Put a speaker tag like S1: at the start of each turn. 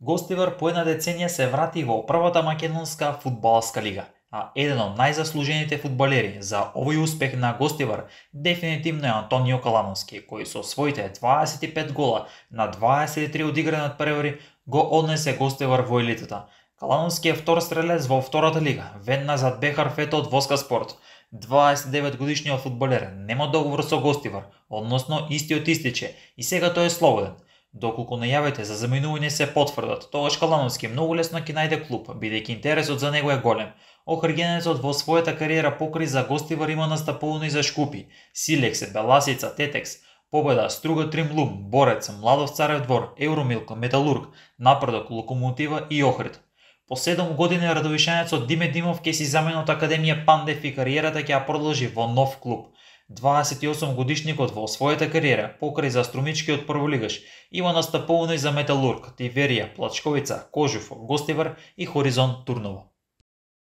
S1: Гостивар по една деценија се врати во првата македонска фудбалска лига, а еден од најзаслужените фудбалери за овој успех на Гостивар дефинитивно е Антонио Калановски, кој со своите 25 гола на 23 одиграни надпревари го однесе Гостивар во елитата. Калановски е втор стрелец во втората лига, веднаш зад Бехар Фето од Воска Спорт. 29 годишниот фудбалер нема договор со Гостивар, односно истиот истиче и сега тој е слободен. Доколку најавите за заменување се потврдат, тогаш Калановски многу лесно ќе најде клуб, бидејќи интересот за него е голем. Охргенецот во својата кариера покрај за Гостивар има настапувано и за Шкупи, Силекс, Беласица, Тетекс, Победа, Струга Тримлум, Борец, Младов Царев двор, Евромилк, Металург, Напредок, Локомотива и Охрид. По 7 години радовишанецот Диме Димов ќе си замени од Академија Пандев и кариерата ќе ја продолжи во нов клуб. 28 годишникот во својата кариера, покрај за струмичкиот прволигаш, има настапувано и за Металург, Тиверија, Плачковица, Кожув, Гостивар и Хоризонт Турново.